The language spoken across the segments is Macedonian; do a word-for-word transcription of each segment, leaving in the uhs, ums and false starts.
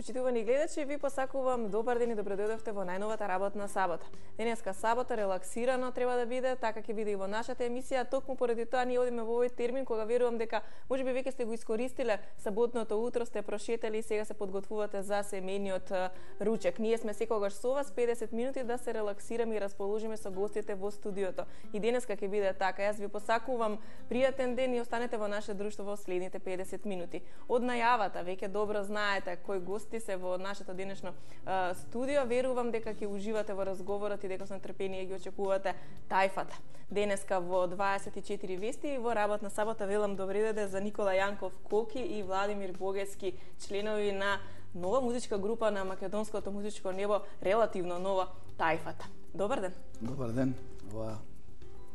Почитувани гледачи, ви посакувам добар ден и добродојдовте во најновата работна сабота. Денеска сабота релаксирано треба да биде, така ќе биде и во нашата емисија. Токму поради тоа ние одиме во овој термин кога верувам дека можеби веќе сте го искористиле саботното утро, сте прошетали и сега се подготвувате за семејниот ручек. Ние сме секогаш со вас педесет минути да се релаксираме и расположиме со гостите во студиото. И денеска ќе биде така. Јас ви посакувам пријатен ден и останете во наше друштво во следните педесет минути. Од најавата веќе добро знаете кои гости се во нашето денешно а, студио. Верувам дека ќе уживате во разговорот и дека со нетрпение ги очекувате тајфата. Денеска во дваесет и четири вести и во работна сабота велам добри деде за Никола Јанков Коки и Владимир Богески, членови на нова музичка група на македонското музичко небо, релативно нова тајфата. Добар ден. Добар ден. Ова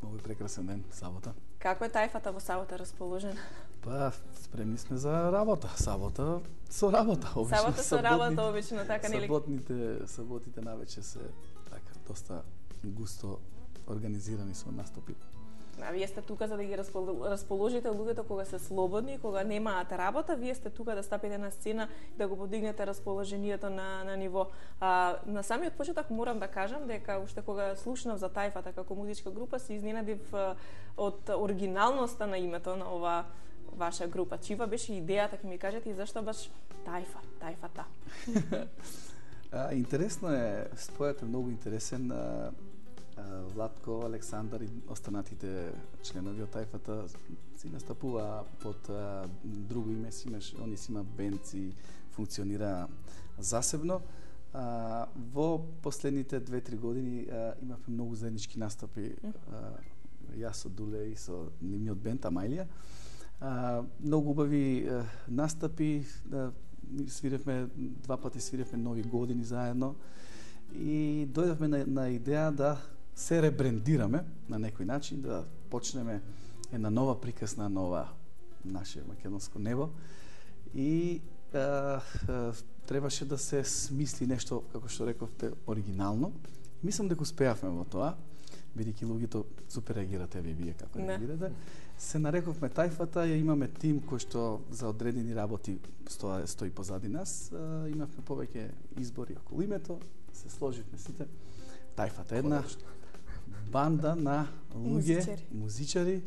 нови прекрасен ден, сабота. Како е тајфата во сабота расположена? Па, спремни сме за работа. Сабота со работа, обично. Сабота со работа, обично, така нели? Саботните, саботите навече се така доста густо организирани со настапи. А вие сте тука за да ги расположите луѓето кога се слободни, кога немаат работа, вие сте тука да стапите на сцена и да го подигнете расположението на на ниво. А, на самиот почеток морам да кажам дека уште кога слушнав за тајфата како музичка група се изненадив од оригиналноста на името на ова ваша група. Чива беше идејата, ќе ми кажете, и зашто баш тајфа, тајфата? а, интересно е, спојот е многу интересен. А, Владко, Александар и останатите членови од тајфата си настапува под а, друго име, си имаш, они си има бенд и функционира засебно. А, во последните две-три години а, имавме многу заеднички настапи, а, јас со Дуле и со нивниот бенд Амајлија. А, многу убави а, настапи, а, свиревме, два пати свиревме нови години заедно и дојдовме на, на идеја да се ребрендираме на некој начин, да почнеме една нова приказна, нова наше македонско небо и а, а, требаше да се смисли нешто, како што рековте, оригинално. Мислам дека успеавме во тоа, бидејќи луѓето супер реагирате ви вие како реагирате. Се нарековме тајфата, ја имаме тим кој што за одредени работи стои, стои позади нас. А, имавме повеќе избори околу името, се сложивме сите. Тајфата е една банда на луѓе, музичари, музичари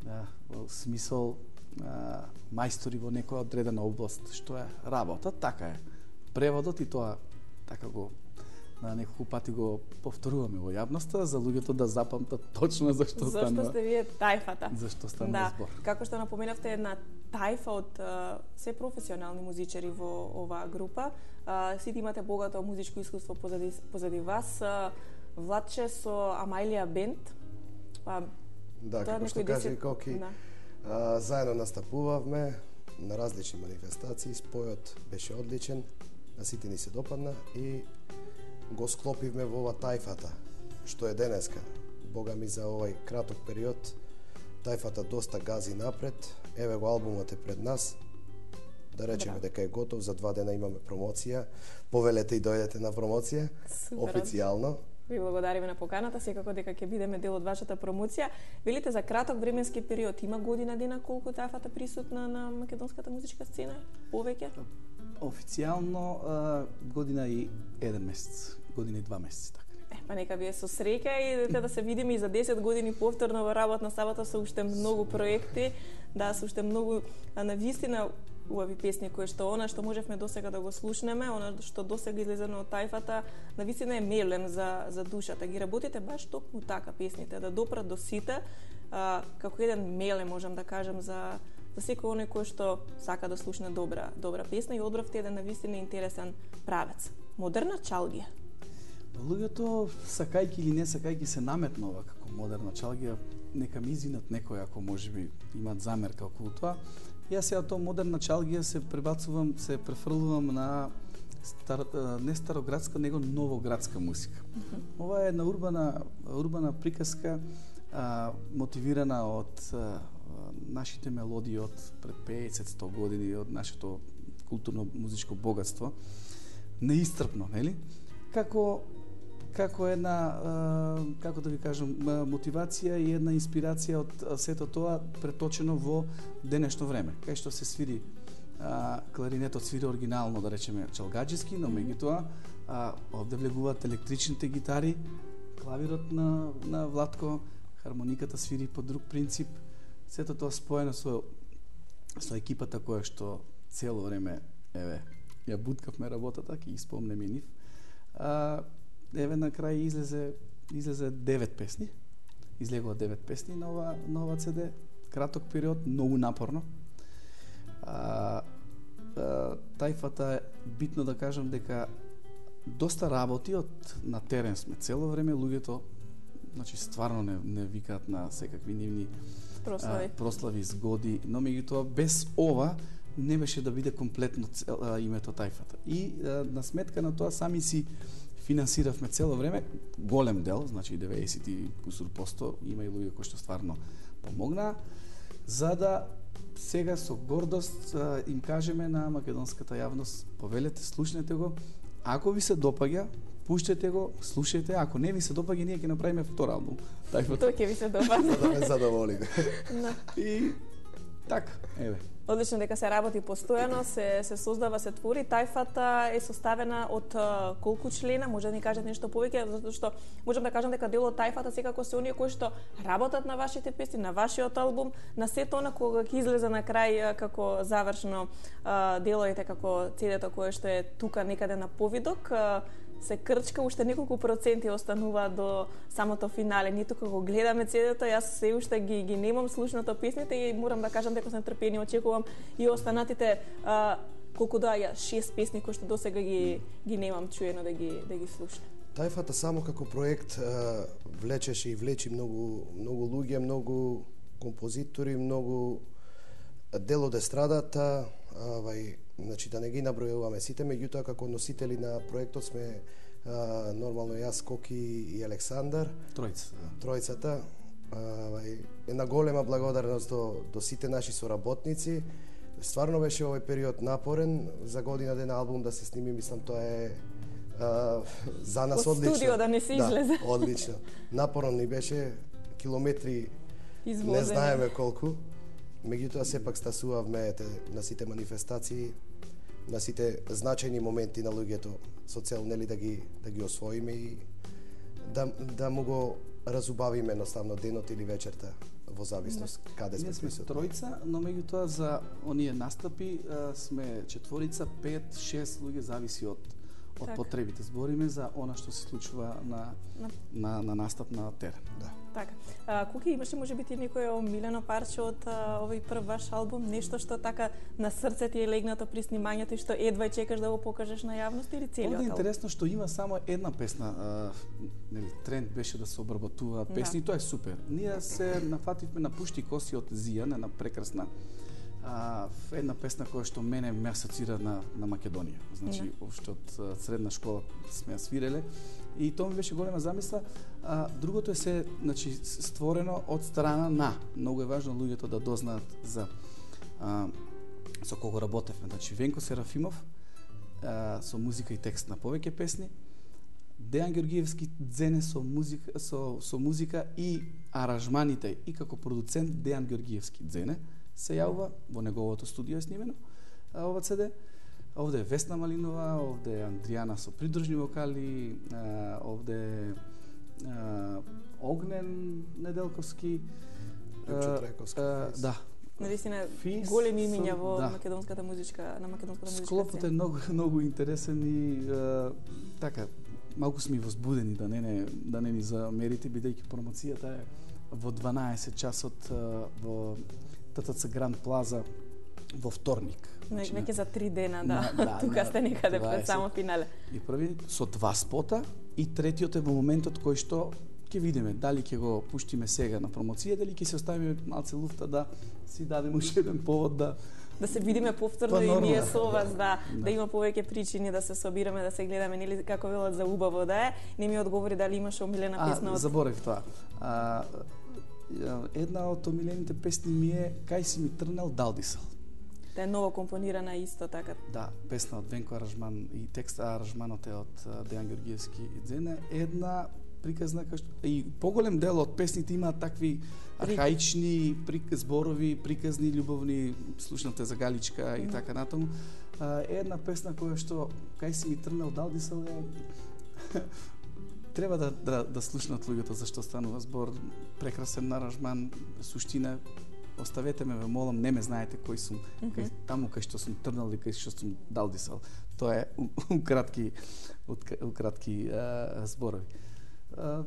да, во смисол а, мајстори во некоја одредена област, што е работа, така е. Преводот и тоа така го на неколку пати го повторуваме во јавноста за луѓето да запамтат точно зашто станува. Зашто сте вие тајфата? Зашто станува да. збор. Како што напоменавте, една тајфа од а, се професионални музичари во оваа група. А, сите имате богато музичко искуство позади, позади вас. А, Владче со Амајлија бенд. А, да, како што кажа и Коки, да. а, заедно настапувавме на различни манифестации, спојот беше одличен, на сите ни се допадна и го склопивме во ова тајфата, што е денеска. Бога ми за овај краток период, тајфата доста гази напред, еве го албумот е пред нас, да речеме дека е готов, за два дена имаме промоција, повелете и дојдете на промоција, супер, официјално. Ви благодариме на поканата, секако дека ќе бидеме дел од вашата промоција. Велите за краток временски период, има година дена колку тајфата присутна на македонската музичка сцена? Повеќе? Официјално а, година и еден месец, година и два месеци, така. Е, па нека вие со среќа и да се видиме и за десет години повторно во работна сабота со уште многу проекти, да, со уште многу, а навистина убави песни кои што она што можевме досега да го слушнеме, она што досега излезено од тајфата, навистина е мелем за за душата. Ги работите баш токму така песните, да допрат до сите, а, како еден мелем можам да кажам за за секој оној кој што сака да слушне добра добра песна и одбравте еден навистина интересен правец. Модерна чалгија. Луѓето, сакајки или не сакајки, се наметнува како модерна чалгија, нека ми извинат некој ако можеби имаат замерка околу тоа. Јас сега тоа модерна чалгија се пребацувам, се префрлувам на стар, не староградска, него новоградска музика. Mm -hmm. Ова е една урбана урбана приказка, а, мотивирана од а, нашите мелодии од пред петдесет-сто години, од нашето културно музичко богатство. Неисцрпно, нели? Како како една, како да ви кажам, мотивација и една инспирација од сето тоа преточено во денешно време, кај што се свири а, кларинетот свири оригинално, да речеме, чалгаџиски, но меѓутоа а, овде влегуваат електричните гитари, клавирот на на Владко, хармониката свири по друг принцип. Сето тоа споено со со екипата која што цело време еве ја буткавме работата, ќе ги спомнеме и нив. А, еве на крај излезе излезе девет песни. Излегува девет песни на ова на ова си ди. Краток период, многу напорно. А, а, тајфата е битно да кажам дека доста работи од на терен сме цело време, луѓето значи стварно не не викаат на секакви нивни прослави, а, прослави згоди, но меѓутоа без ова не беше да биде комплетно цел, а, името тајфата. И а, на сметка на тоа сами си финансиравме цело време, голем дел, значи деветдесет и кусур посто, има и луѓе кои што стварно помогнаа, за да сега со гордост а, им кажеме на македонската јавност, повелете, слушнете го, ако ви се допаѓа, пуштете го, слушајте, ако не ви се допаѓа, ние ќе направиме втор албум. Тоа ќе ви се допаѓа. За да ме задоволиме. И така, еве. Одлично дека се работи постојано, се се создава, се твори. Тајфата е составена од uh, колку члена? Може да ни кажете нешто повеќе, затоа што можам да кажам дека дел од тајфата секако се оние кои што работат на вашите песни, на вашиот албум, на сето она кога ќе излезе на крај како завршно uh, делоите, како си ди-то кое што е тука некаде на повидок. Uh, се крчка, уште неколку проценти останува до самото финале. Ние тука го гледаме си ди-то, јас се уште ги, ги немам слушнато песните и морам да кажам дека сум трпени, очекувам и останатите а, колку да ја шест песни кои што досега ги ги немам чуено да ги да ги слушам. Тајфата само како проект а, влечеше и влечи многу многу луѓе, многу композитори, многу дел од естрадата, авај, значи да не ги набројуваме сите, меѓутоа како носители на проектот сме а, нормално јас, Коки и Александар. Тројца. Тројцата. Авај, една голема благодарност до, до сите наши соработници. Стварно беше овој период напорен, за година ден албум да се сними, мислам тоа е а, за нас Од одлично. студио да не се излезе. Да, одлично. Напорно ни беше, километри Извозени. Не знаеме колку. Меѓутоа сепак стасувавме на сите манифестации, на сите значајни моменти на луѓето со цел нели да ги да ги освоиме и да да му го разубавиме едноставно денот или вечерта во зависност каде сме присутни. Ние сме тројца, но меѓутоа за оние настапи а, сме четворица, пет, шест луѓе, зависи од од так. потребите. Збориме за она што се случува на на, на, на настап на терен. Да. Така. А, Куки, имаш ли може би ти некое омилено парче од а, овој прв ваш албум, нешто што така на срце ти е легнато при снимањето и што едва чекаш да го покажеш на јавност или целиот албум? Овде е интересно што има само една песна, а, нели тренд беше да се обработуваат песни, да. Тоа е супер. Ние се нафативме на Пушти коси од Зијан, една прекрасна а, една песна која што мене ме асоцира на на Македонија. Значи, да. уште од средна школа сме ја свиреле и тоа ми беше голема замисла. А, другото е се, значи, створено од страна на. Многу е важно луѓето да дознаат за а, со кого работевме. Значи, Венко Серафимов а, со музика и текст на повеќе песни, Дејан Георгиевски дзене со музика со со музика и аранжманите и како продуцент Дејан Георгиевски дзене се јавува во неговото студио е снимено а, ова си ди. Овде е Весна Малинова, овде е Андријана со придружни вокали, а, овде а, Огнен Неделковски, Лјупчо Трековски. А, да. Навистина Фис, големи имиња во да. македонската музичка, на македонската музичка Склопот е многу многу интересен и а, така малку сме возбудени да не не да не ни замерите, бидејќи промоцијата е во дванаесет часот а, во ТТЦ Гранд Плаза во вторник. Значи, веќе за три дена, да. На, да Тука на, сте некаде дваесет пред само финале. И први со два спота и третиот е во моментот кој што ќе видиме дали ќе го пуштиме сега на промоција, дали ќе се оставиме малце луфта да си дадеме уште еден повод да да се видиме повторно па, и ние да. со вас, да, да, да има повеќе причини да се собираме, да се гледаме, нели како велат за убаво да е. Не ми одговори дали имаш омилена песна од... од... заборев тоа. А, една од омилените песни ми е Кај си ми трнел Далдисал. Та е ново компонирана исто така. Да, песна од Венко Аранжман и текст аранжманот е од Дејан Георгиевски и Дзене. Една приказна, и поголем дел од песните имаат такви архаични прик... зборови, приказни, љубовни, слушнате за Галичка и така натаму. Е една песна која што кај си ми трнал далдисал е треба да, да, да слушнат луѓето зашто станува збор, прекрасен аранжман, суштина. Оставете ме, ве молам, не ме знаете кој сум, mm -hmm. кај, таму кај што сум трнал и кај што сум далдисал. Тоа е укратки, укратки а, зборови. А,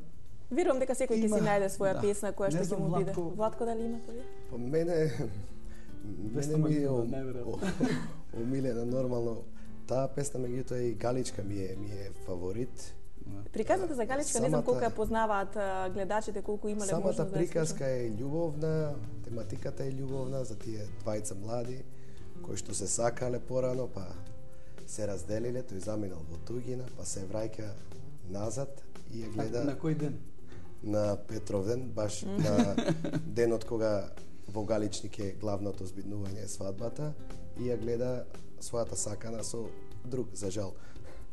Верувам дека секој ќе си најде своја да. песна која што ќе му биде. Владко... Владко, дали имате ви? По мене, мене ми е омилена нормално таа песна, меѓутоа и Галичка ми е, ми е фаворит. Приказната за Галичка, самата, не знам колку ја познаваат гледачите, колку имале можност да ја самата приказка е љубовна, тематиката е љубовна за тие двајца млади кои што се сакале порано, па се разделиле, тој заминал во туѓина, па се враќа назад и ја гледа. На кој ден? На Петровден, баш на денот кога во Галичник е главното збиднување, свадбата, и ја гледа својата сакана со друг, за жал.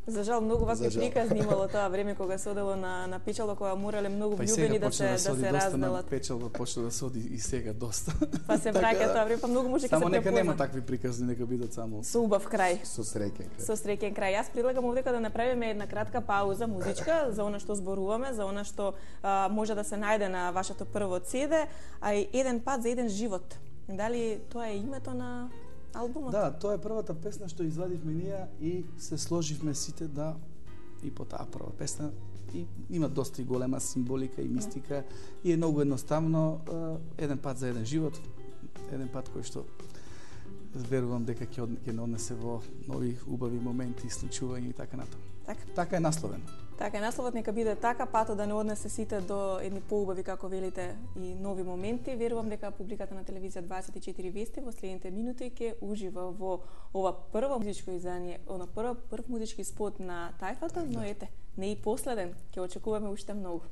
За жал, многу вакви приказни имало тоа време кога се одело на на печалба, кога морале многу влюбени да се да се разделат. На печалба почна да се оди и сега доста. Па се враќа тоа време, па многу може ќе се препозна. Само нека нема такви приказни, нека бидат само со убав крај. Со среќен крај. Со среќен крај. Јас предлагам овдека да направиме една кратка пауза музичка за она што зборуваме, за она што а, може да се најде на вашето прво цеде, а и еден пат за еден живот. Дали тоа е името на албумот? Да, тоа е првата песна што извадивме ние и се сложивме сите да и по таа прва песна и има доста и голема символика и мистика и е многу едноставно, еден пат за еден живот, еден пат кој што верувам дека ќе ќе однесе во нови убави моменти и случувања и така натаму. Така. Така е насловен. Така е насловот, нека биде така, патот да не однесе сите до едни поубави, како велите, и нови моменти. Верувам дека публиката на телевизија дваесет и четири Вести во следните минути ќе ужива во ова прво музичко издание, она прв прв музички спот на Тајфата, но ете, не и последен, ќе очекуваме уште многу.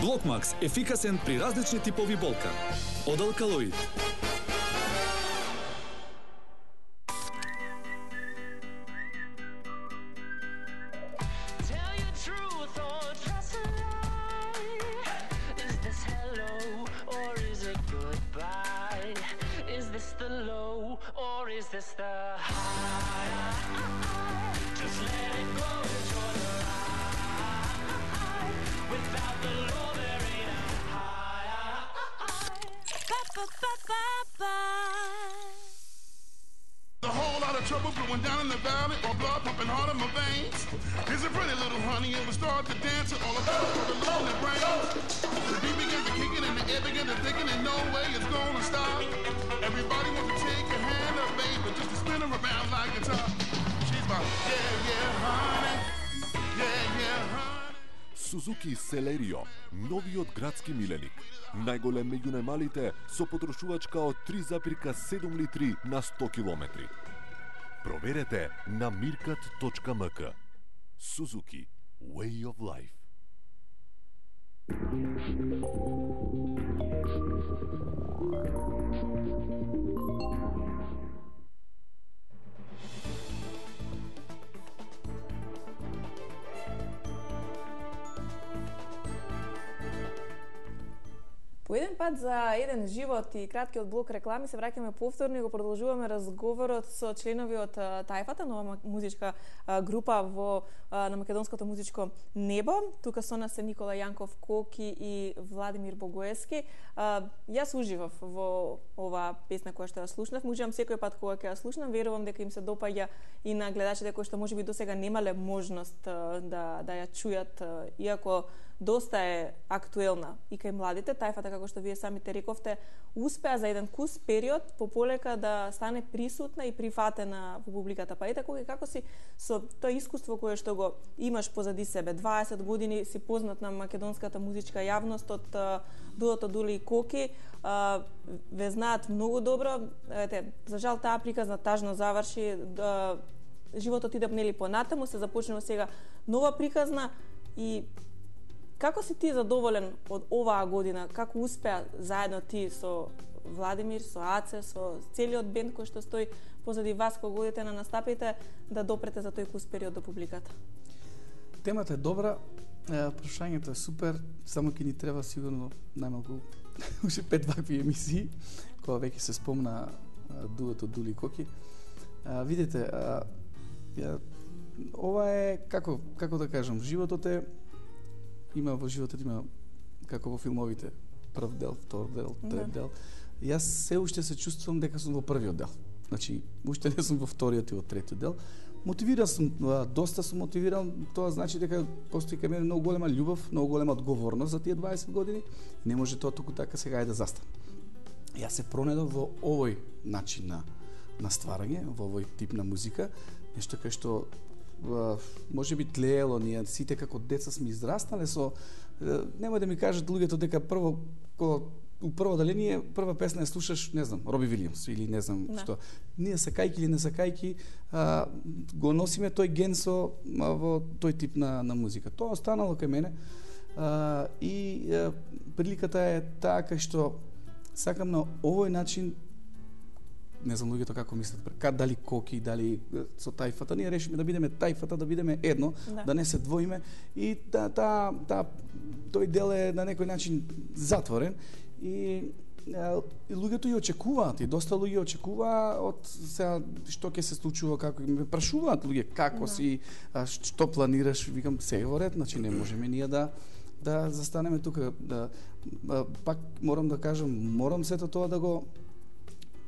Блокмакс ефикасен при различни типови болка. Од Алкалоид. Trouble brewing down in the valley, or blood pumping hard in my veins. Here's a pretty little honey, and we start to dance, all about it for the love in their brains. The beat began to kick it, and the air began to thicken, and no way it's gonna stop. Everybody wants to take your hand up, baby, just to spin her around like a top. She's my yeah, yeah, honey, yeah, yeah, honey. Suzuki Celerio, новиот градски миленик. Најголем меѓу најмалите со потрошувачка од три запирка седум литри на сто километри. Проверете на миркат точка ем ка. Suzuki Way of Life. По еден пат за еден живот и краткиот блок реклами се враќаме повторно и го продолжуваме разговорот со членови од Тајфата, нова музичка група во на македонското музичко небо. Тука со нас се Никола Јанков Коки и Владимир Богоевски. Јас уживав во оваа песна која што ја слушнав. Уживам секој пат кога ќе ја слушнам. Верувам дека им се допаѓа и на гледачите кои што можеби досега немале можност да да ја чујат, иако доста е актуелна и кај младите. Тајфата, како што вие самите рековте, успеа за еден кус период пополека да стане присутна и прифатена во публиката. Па ете кога како си со тоа искуство кое што го имаш позади себе, дваесет години си познат на македонската музичка јавност од дуото Дули и Коки, ве знаат многу добро. Ете, за жал таа приказна тажно заврши, животот иде нели понатаму, се започнува сега нова приказна. И како си ти задоволен од оваа година? Како успеа заедно ти со Владимир, со Аце, со целиот бенд кој што стои позади вас кога одите на настапите да допрете за тој кус период до публиката? Темата е добра, прашањето е супер, само ќе ни треба сигурно најмалку уште пет вакви емисии, кога веќе се спомна дуото Дули и Коки. А, видите, а, ја, ова е, како, како да кажам, животот е, има во животот, има, како во филмовите, прв дел, втор дел, трет дел. Јас се уште се чувствувам дека сум во првиот дел. Значи, уште не сум во вториот и во третиот дел. Мотивиран сум, доста сум мотивиран, тоа значи дека постои кај мене многу голема љубов, многу голема одговорност за тие дваесет години. Не може тоа туку така сега е да застане. Јас се пронедов во овој начин на, на стварање, во овој тип на музика, нешто кај што може би тлеело, ние сите како деца сме израснале со, нема да ми кажат луѓето дека прво, кога у прво даление, прва песна ја слушаш, не знам, Роби Вилијамс или не знам да. Што. Ние сакајки или не сакајки, а, го носиме тој ген со а, во тој тип на, на музика. Тоа останало кај мене а, и а, приликата е таа кај што сакам на овој начин, не знам луѓето како мислат, прека дали Коки, дали со Тајфата, ние решиме да бидеме Тајфата, да бидеме едно, да, да не се двоиме и та, та, та, тој дел е на некој начин затворен и, а, и луѓето ја очекуваат, и доста луѓе очекуваа од сега што ќе се случува, како ме прашуваат луѓе како да. Си, а, што планираш, викам се во ред, значи не можеме ние да да застанеме тука, да а, пак морам да кажам, морам сето тоа да го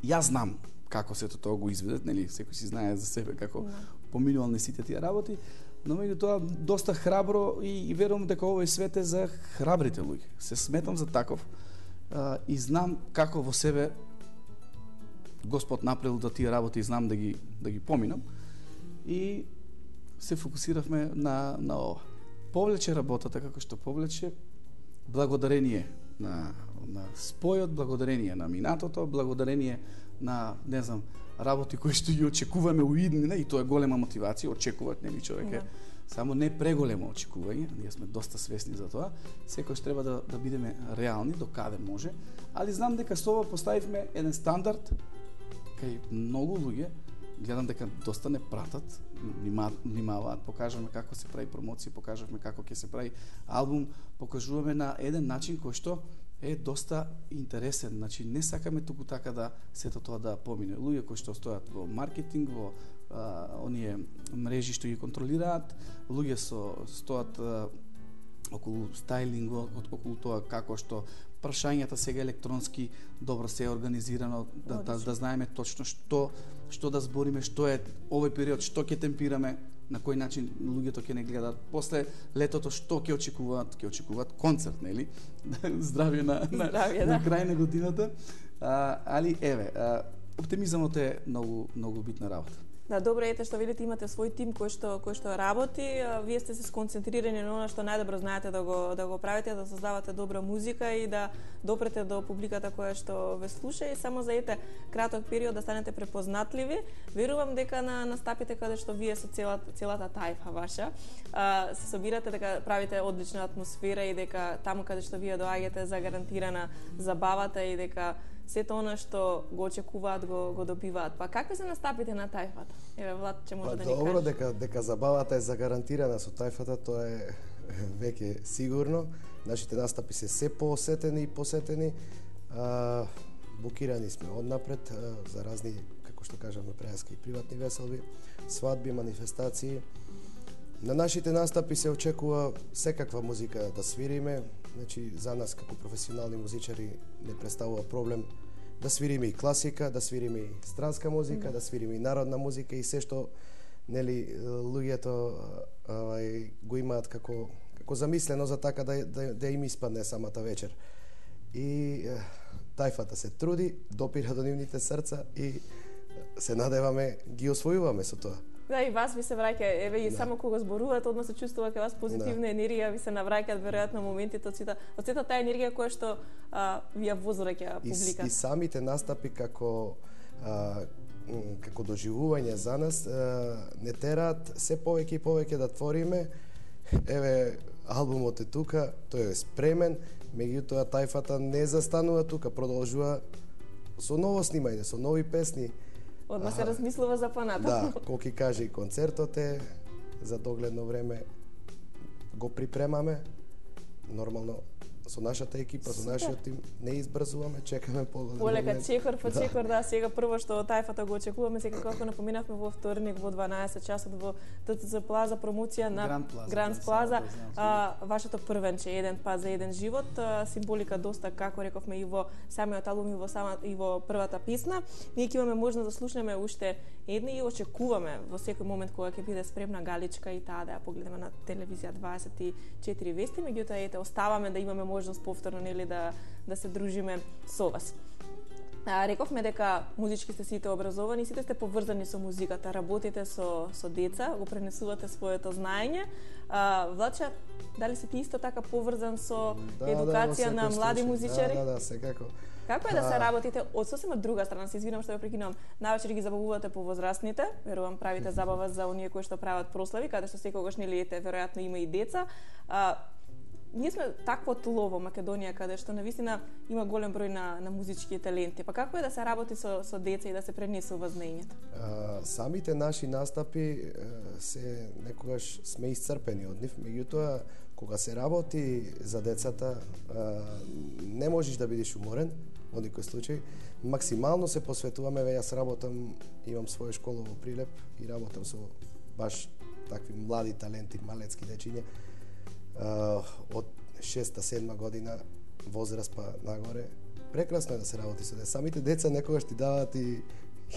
Јас знам како сето тоа го изведат, нели, секој си знае за себе како no. поминувал не сите тие работи, но меѓутоа доста храбро и, и верувам дека овој свет е за храбрите луѓе. Се сметам за таков а, и знам како во себе Господ направил да тие работи и знам да ги да ги поминам. И се фокусиравме на на ова. Повлече работата како што повлече благодарение на на спојот, благодарение на минатото, благодарение на, не знам, работи кои што ги очекуваме у иднина, и тоа е голема мотивација, очекуваат нели човек е само не преголемо очекување, ние сме доста свесни за тоа, секојаш треба да да бидеме реални до каде може, али знам дека со ова поставивме еден стандард кај многу луѓе, гледам дека доста не пратат, внимаваат, покажуваме како се прави промоција, покажуваме како ќе се прави албум, покажуваме на еден начин кој што е доста интересен. Значи не сакаме туку така да сето тоа да помине. Луѓе кои што стојат во маркетинг, во а, оние мрежи што ги контролираат, луѓе со стојат а, околу стајлинг, околу тоа како што прашањата сега електронски добро се е организирано, да, да, да знаеме точно што што да збориме, што е овој период, што ќе темпираме, на кој начин луѓето ќе не гледаат. После летото што ќе очекуваат? Ќе очекуваат концерт, нели? Здравје на на, Здравје, на да. крај на годината. А, али еве, а, оптимизмот е многу многу битна работа. Да, добро ете што видите имате свој тим кој што кој што работи, вие сте се сконцентрирани на она што најдобро знаете да го да го правите, да создавате добра музика и да допрете до публиката која што ве слуша и само за ете краток период да станете препознатливи. Верувам дека на настапите каде што вие со целата целата тајфа ваша а, се собирате, дека правите одлична атмосфера и дека таму каде што вие доаѓате загарантирана забавата и дека сето она што го очекуваат го го добиваат. Па какви се настапите на тајфата? Еве Влад ќе може па, да ни каже. Добро, дека дека забавата е загарантирана со тајфата, тоа е веќе сигурно. Нашите настапи се се поосетени и посетени. А, букирани сме однапред а, за разни, како што кажаме, преаски и приватни веселби, свадби, манифестации. На нашите настапи се очекува секаква музика да свириме. Значи, за нас како професионални музичари не представува проблем да свириме и класика, да свириме и странска музика, mm. да свириме и народна музика и се што нели луѓето авај го имаат како како замислено за така да да, да им испадне самата вечер. И тајфата се труди, допира до нивните срца и се надеваме ги освојуваме со тоа. Да, и вас ви се враќа, еве и да. Само кога зборувате, одма се чувствува кај вас позитивна да. енергија, ви се навраќаат веројатно моментите од сета, од сета таа енергија која што а, ви ја возвраќа публиката. И, и самите настапи како а, како доживување за нас а, не тераат се повеќе и повеќе да твориме. Еве албумот е тука, тој е спремен, меѓутоа тајфата не застанува тука, продолжува со ново снимање, со нови песни. Одма се размислува за понатаму. Да, колки каже и концертот е за догледно време го припремаме. Нормално со нашата екипа, со нашиот тим не избрзуваме, чекаме поголем. Полека чекор по чекор, да. да, сега прво што тајфата го очекуваме, сега како напоминавме во вторник во дванаесет часот во Т Ц Ц Плаза промоција на Гранд Плаза, а, вашето првенче еден пат за еден живот, а, символика доста, како рековме, и во самиот албум и во сама и во првата песна. Ние ќе имаме можност да слушнеме уште едни и очекуваме во секој момент кога ќе биде спремна галичка и таа да ја погледаме на телевизија дваесет и четири вести, меѓутоа ете оставаме да имаме можност повторно нели да да се дружиме со вас. А, рековме дека музички сте сите образовани, сите сте поврзани со музиката, работите со со деца, го пренесувате своето знаење. А, Влаче, дали си ти исто така поврзан со да, едукација да, на млади музичари? Да, да, да, секако. Како е да се работите од сосема друга страна, се извинувам што ве прекинувам, навечер ги забавувате повозрастните, верувам правите забава за оние кои што прават прослави, каде што секогаш нели ете веројатно има и деца. А, ние сме такво тло во Македонија каде што навистина има голем број на на музички таленти. Па како е да се работи со со деца и да се пренесува знаењето? Самите наши настапи се некогаш сме исцрпени од нив, меѓутоа кога се работи за децата не можеш да бидеш уморен во никој случај. Максимално се посветуваме, веќе јас работам, имам своја школа во Прилеп и работам со баш такви млади таленти, малецки дечиња. Uh, од шеста седма година возраст па нагоре. Прекрасно е да се работи со деца. Самите деца некогаш ти даваат и,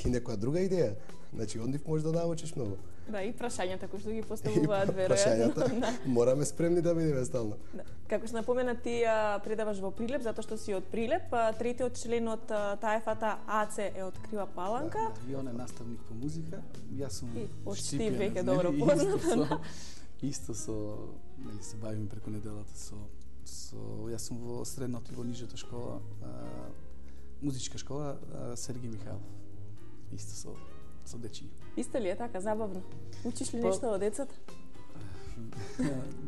и некоја друга идеја. Значи, од нив можеш да научиш многу. Да, и прашањата кои што ги поставуваат веројатно. Прашањата. Мораме спремни да бидеме стално. Да. Како што напомена, ти а, предаваш во Прилеп затоа што си од Прилеп, а, третиот член од таефата АЦ е од Крива Паланка. Да, и он е наставник по музика. Јас сум Почти веќе добро познат. Исто со, нели се бавиме преку неделата со со јас сум во средното и во нижата школа, а, музичка школа а, Сергеј Михаилов. Исто со со дечиња. Исто ли е така забавно? Учиш ли По... нешто од децата?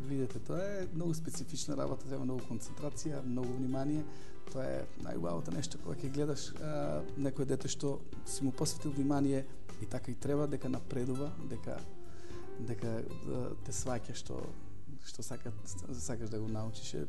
Видете, тоа е многу специфична работа, треба многу концентрација, многу внимание. Тоа е најубавото нешто кога ќе гледаш а, некој дете што си му посветил внимание и така и треба дека напредува, дека дека да, те сваќа што што сака, сакаш да го научиш, е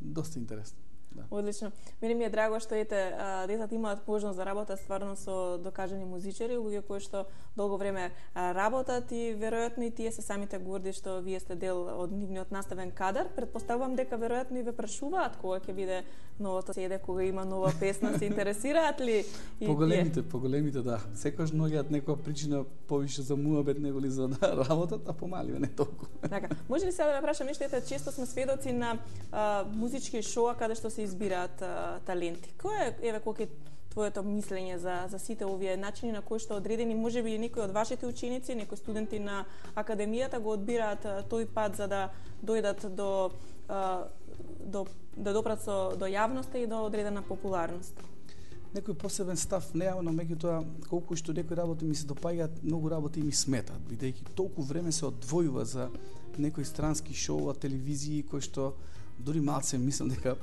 доста интересно. Да. Одлично. Мене ми е драго што ете децата имаат можност да работат стварно со докажани музичари, луѓе кои што долго време работат и веројатно и тие се самите горди што вие сте дел од нивниот наставен кадар. Предпоставувам дека веројатно и ве прашуваат кога ќе биде новото седе, кога има нова песна, се интересираат ли и поголемите, тие? Поголемите да. Секогаш наоѓаат некоја причина повише за муабет него ли за да работат, а помаливе не толку. Така, може ли сега да ве прашам нешто, ете често сме сведоци на а, музички шоа каде што се избираат а, таленти. Кој е еве колку твоето мислење за за сите овие начини на кои што одредени можеби и некои од вашите ученици, некои студенти на академијата го одбираат а, тој пат за да дојдат до а, до да допрат со до јавноста и до одредена популарност? Некој посебен став неа, но меѓутоа колку што некои работи ми се допаѓаат, многу работи ми сметаат, бидејќи толку време се одвојува за некои странски шоуа, телевизии кои што дури малце мислам дека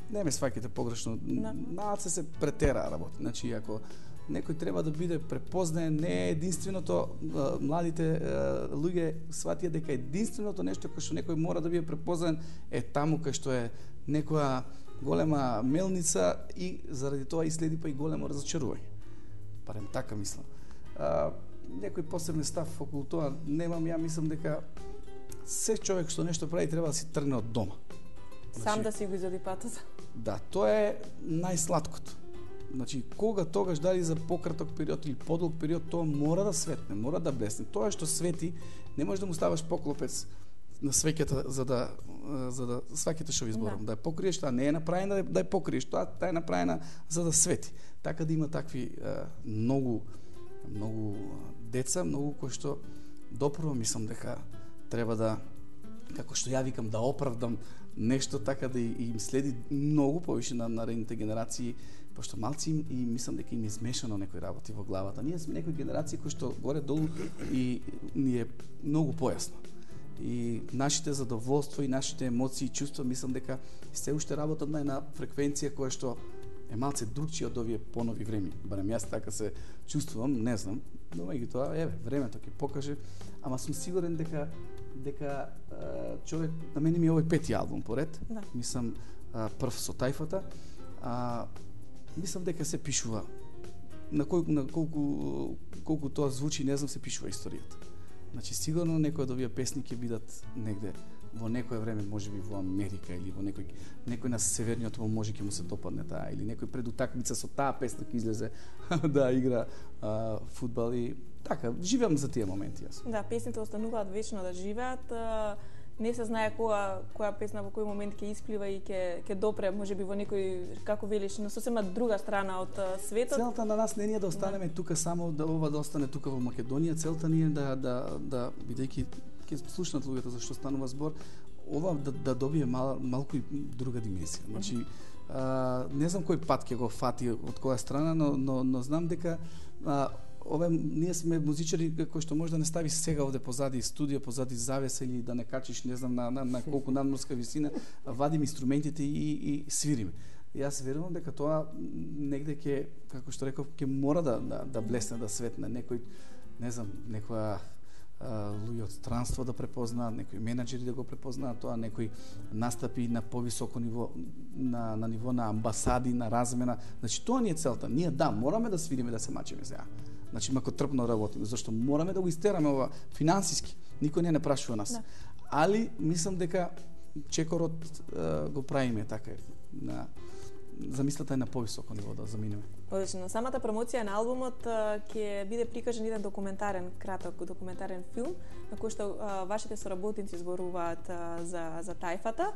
не ме сваќате погрешно, да. Малце се претера работи. Значи ако некој треба да биде препознаен, не е единственото, младите луѓе сватија дека единственото нешто кое што некој мора да биде препознаен е таму кај што е некоја голема мелница и заради тоа и следи па и големо разочарување. Барем така мислам. А, некој посебен став околу тоа немам, ја мислам дека се човек што нешто прави треба да си тргне од дома. Сам Значи, да си го изоди патот. Да, тоа е најсладкото. Значи, кога тогаш дали за пократок период или подолг период, тоа мора да светне, мора да блесне. Тоа што свети, не можеш да му ставаш поклопец на свеќата за да за да сваќате што ви зборам, да. да ја покриеш, таа не е направена да, да ја покриеш, тоа таа е направена за да свети. Така да има такви е, многу многу деца, многу кои што допрво мислам дека треба да, како што ја викам, да оправдам нешто така да им следи многу повише на наредните генерации, пошто малци им, и мислам дека им е измешано некои работи во главата. Ние сме некои генерации кои што горе долу и ни е многу појасно. И нашите задоволство и нашите емоции и чувства мислам дека се уште работат на една фреквенција која што е малце другчија од овие понови време. Барем јас така се чувствувам, не знам, но меѓутоа еве времето ќе покаже, ама сум сигурен дека дека а, човек, на мене ми е овој пети албум поред. Да. Мислам а, прв со тајфата. А, мислам дека се пишува на колку на колку колку тоа звучи, не знам, се пишува историјата. Значи сигурно некои од овие песни ќе бидат негде во некое време, можеби во Америка или во некој некој на северниот пол може ќе му се допадне таа, или некој пред утакмица со таа песна ќе излезе да игра а, фудбал и така, живеам за тие моменти јас. Да, песните остануваат вечно да живеат. Не се знае која која песна во кој момент ќе исплива и ќе ќе допре можеби во некој, како велиш, на сосема друга страна од светот. Целта на нас не е да останеме да. тука само да ова да остане тука во Македонија, целта ни е да да да бидејќи ќе слушнат луѓето за што станува збор, ова да да добие мал, малку и друга димензија. Значи mm -hmm. а, не знам кој пат ќе го фати од која страна, но но, но знам дека а, Ове, ние сме музичари кои што може да не ставиш сега овде позади студио, позади завеса или да не качиш, не знам, на, на, на колку надморска висина, вадим инструментите и, и свириме. И јас верувам дека тоа негде ќе, како што реков, ќе мора да, да, да блесне, да светне. Некој, не знам, некоја луѓе од странство да препознаат, некои менаџери да го препознаат тоа, некои настапи на повисоко ниво, на, на ниво на амбасади, на размена. Значи, тоа ни е целта. Ние, да, мораме да свириме, да се мачиме сега. Значи, мако трпно работиме, зашто мораме да го истераме ова финансиски. Никој не не прашува нас. Да. Али, мислам дека чекорот е, го правиме така на замислата е на повисоко ниво да заминеме. Одлично. Самата промоција на албумот ќе биде прикажен еден документарен, краток документарен филм на кој што а, вашите соработници зборуваат а, за за тајфата.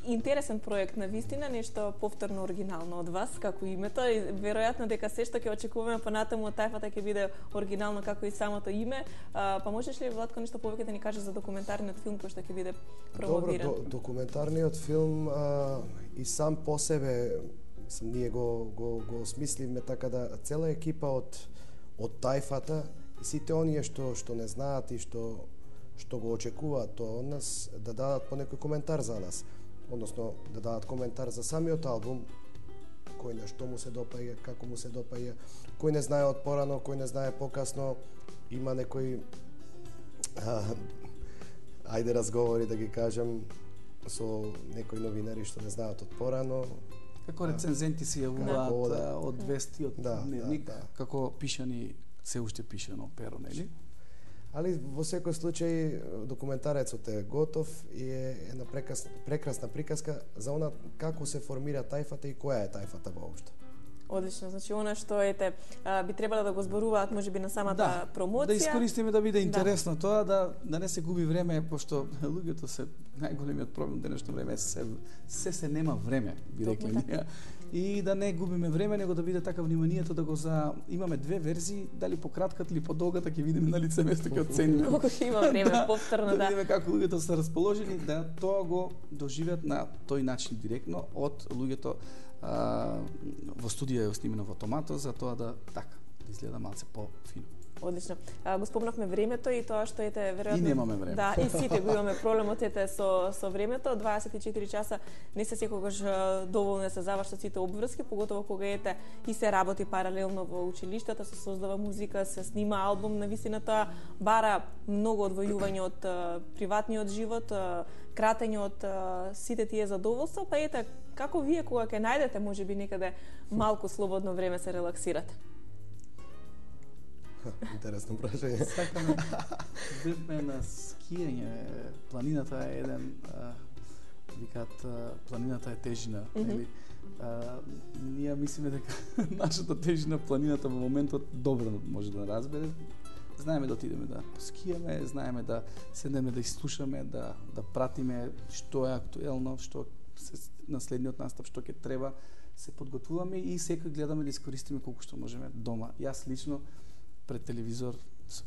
Интересен проект на вистина, нешто повторно оригинално од вас, како името, и веројатно дека се што ќе очекуваме понатаму од тајфата ќе биде оригинално како и самото име. А, па можеш ли, Владко, нешто повеќе да ни кажеш за документарниот филм кој што ќе биде промовиран? Добро, до, документарниот филм а, и сам по себе, мислам, ние го, го, го осмисливме така да цела екипа од, од тајфата и сите оние што, што не знаат и што, што го очекуваат тоа од нас, да дадат по некој коментар за нас. Односно, да дадат коментар за самиот албум, кој на што му се допаѓа, како му се допаѓа, кој не знае од порано, кој не знае покасно, има некои а, ајде разговори да ги кажам со некои новинари што не знаат од порано. Како рецензенти се јавуваат да, од вести, од да, дневник, да, да. Како пишани, се уште пишано перо, нели? Али во секој случај документарецот е готов и е една прекрасна, прекрасна приказка за она како се формира тајфата и која е тајфата воопшто. Одлично, значи она што ете би требало да го зборуваат можеби на самата да, промоција. Да искористиме да биде интересно да. Тоа, да да не се губи време, пошто луѓето се најголемиот проблем денешно време се се се нема време, би рекле ние. И да не губиме време, него да биде така вниманието да го за имаме две верзии, дали пократката или подолгата ќе видиме на лице место ќе оцениме. Колку ќе има време да, повторно да. Да видиме како луѓето се расположени да тоа го доживеат на тој начин директно од луѓето а, во студија е снимено во Томато, за тоа да така да изгледа малце по-фино. Одлично. А, го спомнавме времето и тоа што ете веројатно и немаме време. Да, и сите го имаме проблемот ете со со времето. дваесет и четири часа не се секогаш доволно да се завршат сите обврски, поготово кога ете и се работи паралелно во училиштата, се создава музика, се снима албум, навистина тоа бара многу одвојување од а, приватниот живот, а, кратење од а, сите тие задоволства, па ете како вие кога ќе најдете можеби некаде малку слободно време се релаксирате? Интересно прашање. Сакаме бевме на скијање. Планината е еден, а, викаат, планината е тежина, mm -hmm. нели? А, ние мислиме дека нашата тежина планината во моментот добро може да разбере. Знаеме да отидеме да поскијаме, знаеме да седнеме да изслушаме, да да пратиме што е актуелно, што се на следниот настап, што ќе треба, се подготвуваме и секој гледаме да искористиме колку што можеме дома. Јас лично пред телевизор со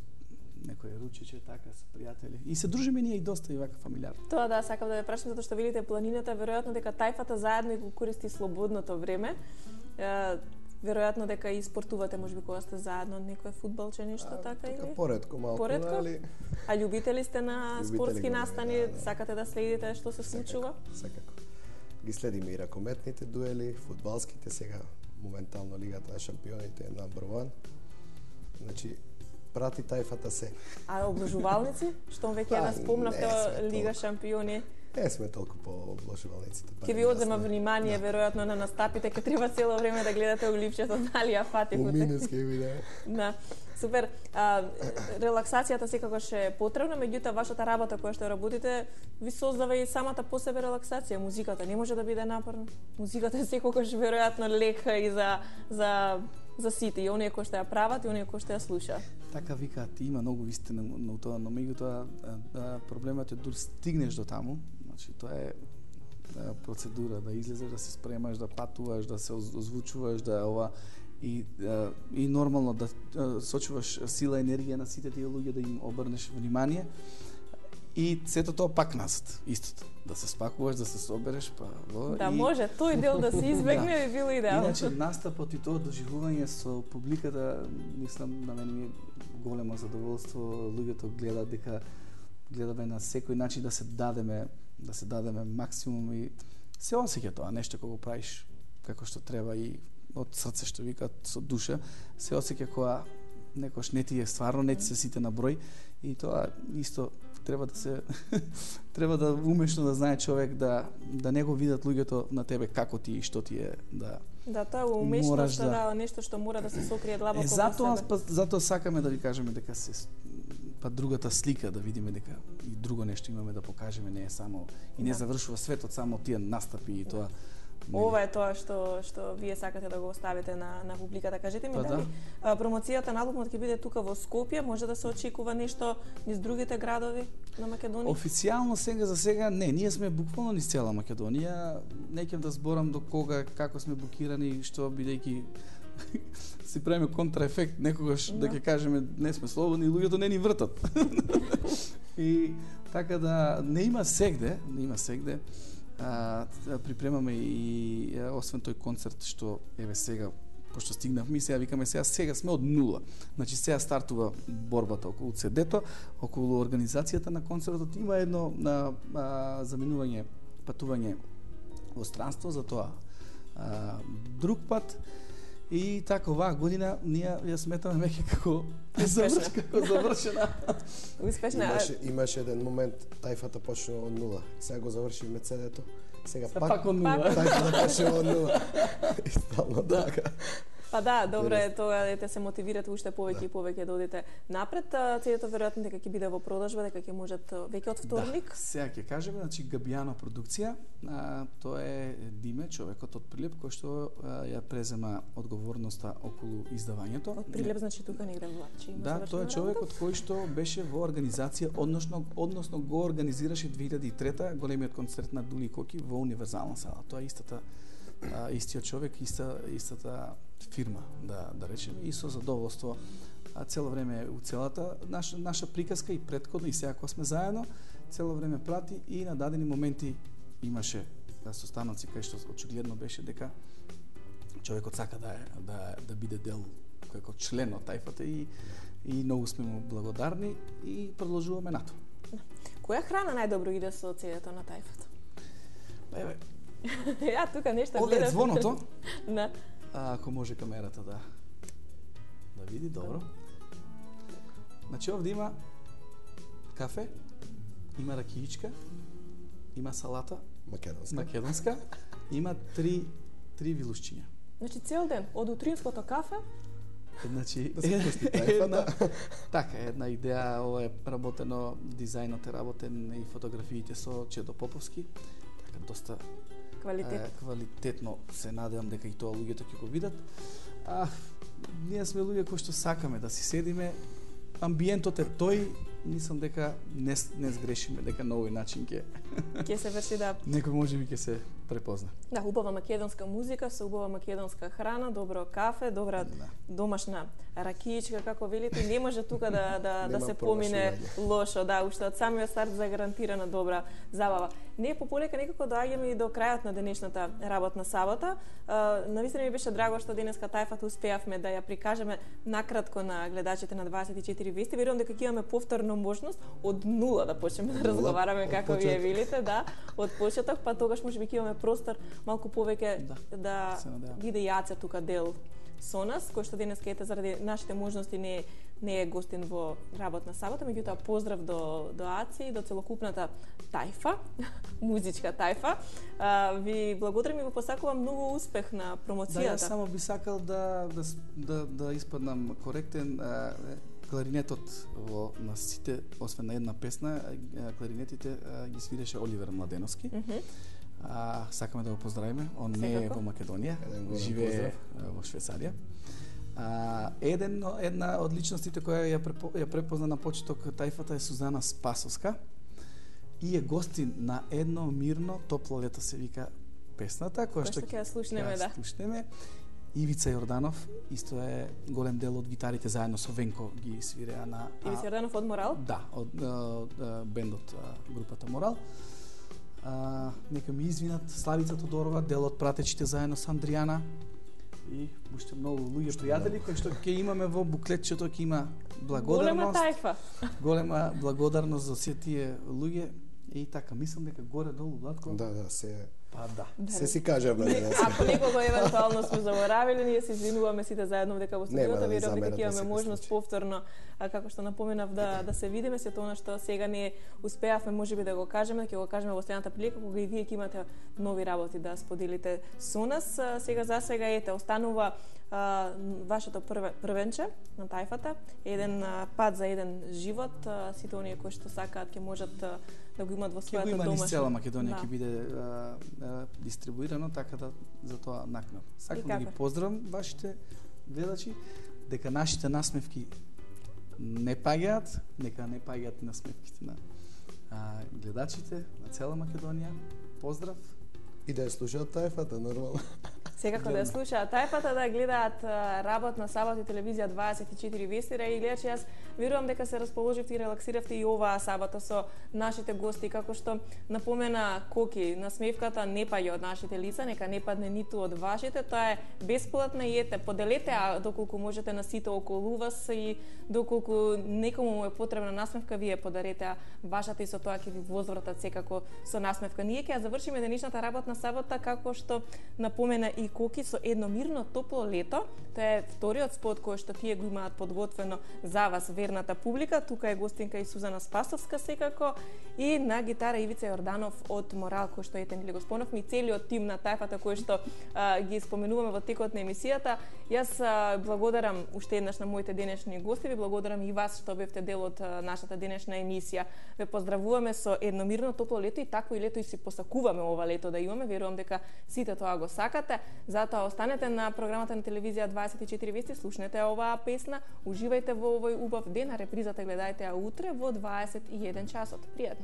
некој ручече така со пријатели. И се дружиме ние и доста и вака фамилиарно. Тоа да, сакам да ве прашам затоа што видите планината, веројатно дека тајфата заедно и го користи слободното време. Е, веројатно дека и спортувате можеби кога сте заедно некој фудбалче нешто а, така или? Така поретко малку, поретко? али А љубители сте на Любители спортски го, настани, да, да. сакате да следите што се случува? Секако. Ги следиме и ракометните дуели, фудбалските, сега моментално Лигата на шампионите е number one. Значи, прати тајфата се. А обложувалници? Што веќе да спомнавте Лига шампиони? Не сме толку по обложувалниците. Ќе ви одзема внимание, да. Веројатно на настапите, ќе треба цело време да гледате уливчето, дали ја фатихте. У минус ќе виде. Да. Супер. А, релаксацијата секогаш е потребна, меѓутоа вашата работа која што работите ви создава и самата по себе релаксација. Музиката не може да биде напорна. Музиката е секогаш веројатно лека и за за за сите, и оние кои што ја прават и оние кои што ја слушаат. Така викаат, има многу вистина на тоа, но меѓутоа проблемот е дури стигнеш до таму, значи тоа е процедура да излезеш, да се спремаш, да патуваш, да се озвучуваш, да ова и и нормално да сочуваш сила и енергија на сите тие луѓе, да им обрнеш внимание. И сето тоа пак назад, истото. Да се спакуваш, да се собереш, па во Да и... може тој дел да се избегне, да. би било идеално. Иначе настапот и тоа доживување со публиката, мислам на мене ми е големо задоволство. Луѓето гледаат дека гледаме на секој начин да се дадеме, да се дадеме максимум и се осеќа тоа нешто кога го правиш како што треба и од срце што викаат со душа, се осеќа кога некош не ти е стварно, не ти се сите на број и тоа исто треба да се треба да умешно да знае човек да да не го видат луѓето на тебе како ти и што ти е да Да, тоа е умешност, да, да, нешто што мора да се сокрие длабоко е, во затоа себе. па, затоа сакаме да ви кажеме дека се па другата слика да видиме дека и друго нешто имаме да покажеме, не е само и не да. завршува светот само тие настапи и тоа Ова е тоа што што вие сакате да го оставите на на публиката. Кажете ми па, дали да. промоцијата на албумот ќе биде тука во Скопје, може да се очекува нешто низ другите градови на Македонија? Официјално сега за сега не, ние сме буквално низ цела Македонија. Не ќе да зборам до кога, како сме блокирани, што бидејќи си правиме контраефект некогаш да ќе кажеме не сме слободни и луѓето не ни вртат. И така да не има сегде, не има сегде. А, припремаме и а, освен тој концерт што еве сега пошто стигнавме, сега викаме сега сега сме од нула. Значи сега стартува борбата околу цедето, околу организацијата на концертот има едно на заменување патување во странство за тоа. А, друг пат и така оваа година ние ја сметаме веќе како завршена, како завршена. Успешна. Имаше имаше еден момент тајфата почна од нула. Сега го завршивме цедето. Сега Са пак, пак од нула. тајфата почна од нула. И стално така. Па да, добро е тоа да се мотивирате уште повеќе Да. и повеќе да одите напред. Цедето веројатно дека ќе биде во продажба, дека ќе можат веќе од вторник. Да, сега ќе кажеме, значи Габијано продукција, а, тоа е Диме, човекот од Прилеп кој што а, ја презема одговорноста околу издавањето. Од Прилеп значи тука негде во Лачи. Има Да, тоа е човекот кој што беше во организација, односно односно го организираше две илјади и трета големиот концерт на Дули Коки во Универзална сала. Тоа е истата а, истиот човек, иста истата фирма, да да речеме, и со задоволство а цело време у целата наша наша приказка и претходно и сега кога сме заедно, цело време прати и на дадени моменти имаше да состаноци кај што очигледно беше дека човекот сака да е, да да биде дел како член од тајфата и и многу сме му благодарни и продолжуваме нато. Која храна најдобро иде со цедето на тајфата? Еве, Ја тука нешто овде е гледам. звоното. Да. А, ако може камерата да да види, добро. Значи овде има кафе, има ракиичка, има салата Македонска. македонска, има три три вилушчиња. Значи цел ден од утринското кафе Значи Да се пусти една, тајфата. така една идеја, ова е работено, дизајнот е работен и фотографиите со Чедо Поповски. Така доста квалитет. Е, квалитетно се надевам дека и тоа луѓето ќе го видат. А ние сме луѓе кои што сакаме да си седиме. Амбиентот е тој, мислам дека не не сгрешиме, дека на овој начин ќе Ќе се врши да некој можеби ќе се препозна. да убава македонска музика со убава македонска храна, добро кафе, добра Да. домашна ракиичка како велите, не може тука да да да Нема се помине промашување. лошо, да, уште од самиот старт загарантирана добра забава. Не пополека некако доаѓаме и до крајот на денешната работна сабота. Навистина ми беше драго што денеска тајфата успеавме да ја прикажеме накратко на гледачите на дваесет и четири вести. Верувам дека ќе имаме повторно можност од нула да почнеме да разговараме од како вие почеток. велите, да, од почеток, па тогаш можеби ќе имаме простор малку повеќе Да, да се надевам. биде Јаце тука дел со нас, кој што денеска ете заради нашите можности не е, не е гостин во работна сабота, меѓутоа поздрав до до Аци и до целокупната тајфа, музичка тајфа. А, ви благодарам и ви посакувам многу успех на Да, промоцијата. јас само би сакал да да с- да, да испаднам коректен. А, кларинетот во на сите, освен на една песна, а, кларинетите а, ги свиреше Оливер Младеновски. Мгм. А, сакаме да го поздравиме. Он не е Секако. во Македонија, Еден голем живее поздрав. а, во Швајцарија. А, еден една од личностите која ја препо, ја препозна на почеток тајфата е Сузана Спасовска и е гостин на едно мирно топло лето се вика песната која Која што ќе ја слушнеме, ќе ја да. слушнеме. Ивица Јорданов исто е голем дел од гитарите заедно со Венко ги свиреа на Ивица Јорданов од Морал. Да, од, од, од бендот а, групата Морал. А, нека ми извинат Славица Тодорова, дел од пратечите заедно со Андријана и уште многу луѓе пријатели кои што ќе имаме во буклетчето, ќе има Голема благодарност, тајфа. голема благодарност за сите тие луѓе и така мислам дека горе долу Владко. Да, да, се Па да. се си кажеме денес. Ако некого евентуално сме заборавиле, ние се извинуваме сите заедно дека во Нема студиото да ви верувам дека замерат ќе во имаме секој можност случај. повторно, а како што напоменав да да се видиме, сето она што сега не успеавме можеби да го кажеме, ќе го кажеме во следната прилика кога и вие ќе имате нови работи да споделите со нас. А, Сега за сега ете останува а, вашето прве, првенче на тајфата, еден а, пат за еден живот, а, сите оние кои што сакаат ќе можат а, да го имаат во својата домашна. Ќе го има низ цела Македонија, ќе да. биде а, а, дистрибуирано, така да за тоа накнад. Сакам да ги поздравам вашите гледачи, дека нашите насмевки не паѓаат, нека не паѓаат насмевките на а, гледачите на цела Македонија. Поздрав. И да ја слушаат тајфата, нормално. Секако да ја слушаат тајфата, да гледаат работна сабот и телевизија дваесет и четири вестира и гледачи, јас верувам дека се расположивте и релаксиравте и оваа сабота со нашите гости, како што напомена Коки, насмевката не паѓа од нашите лица, нека не падне ниту од вашите, тоа е бесплатна и ете, поделете, а доколку можете на сите околу вас и доколку некому му е потребна насмевка, вие подарете, а вашата и со тоа ќе ви возвратат секако со насмевка. Ние ќе ја завршиме денешната работна сабота како што напомена и Коки со едно мирно топло лето. Тоа е вториот спот кој што тие го имаат подготвено за вас, верната публика. Тука е гостинка и Сузана Спасовска секако и на гитара Ивица Јорданов од Морал, кој што ете нели го спомнавме, и целиот тим на тајфата кој што а, ги споменуваме во текот на емисијата. Јас а, благодарам уште еднаш на моите денешни гости, ви благодарам и вас што бевте дел од а, нашата денешна емисија. Ве поздравуваме со едно мирно топло лето и такво и лето и си посакуваме ова лето да имаме. Верувам дека сите тоа го сакате. Затоа останете на програмата на телевизија дваесет и четири вести, слушнете оваа песна, уживајте во овој убав ден, а репризата гледајте ја утре во дваесет и еден часот. Пријатно.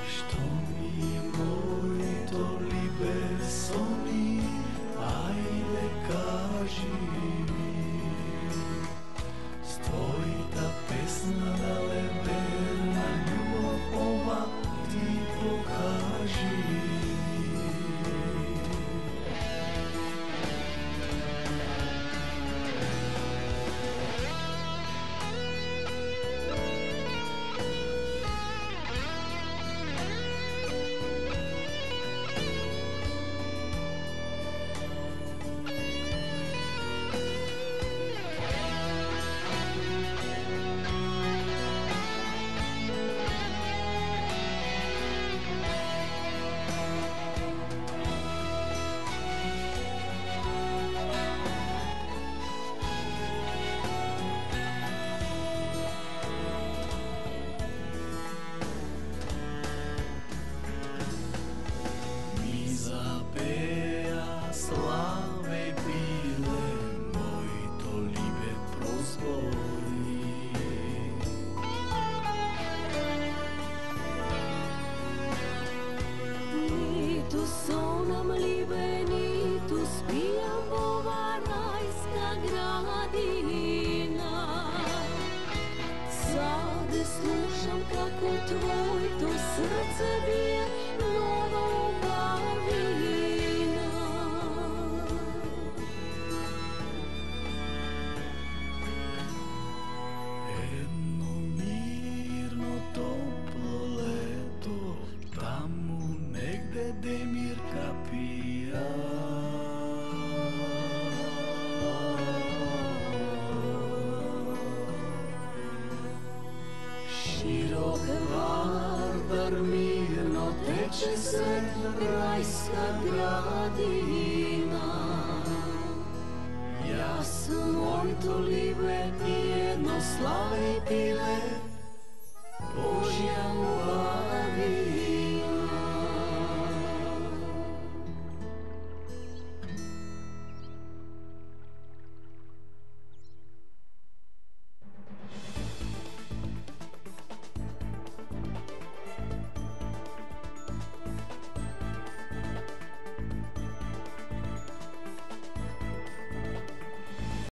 Что ми моето либе сон Деmirka pija. Širok Vardar mirno teče svetlo rajska gradina. Јас моето ливе и едно слави пиле, Божја мува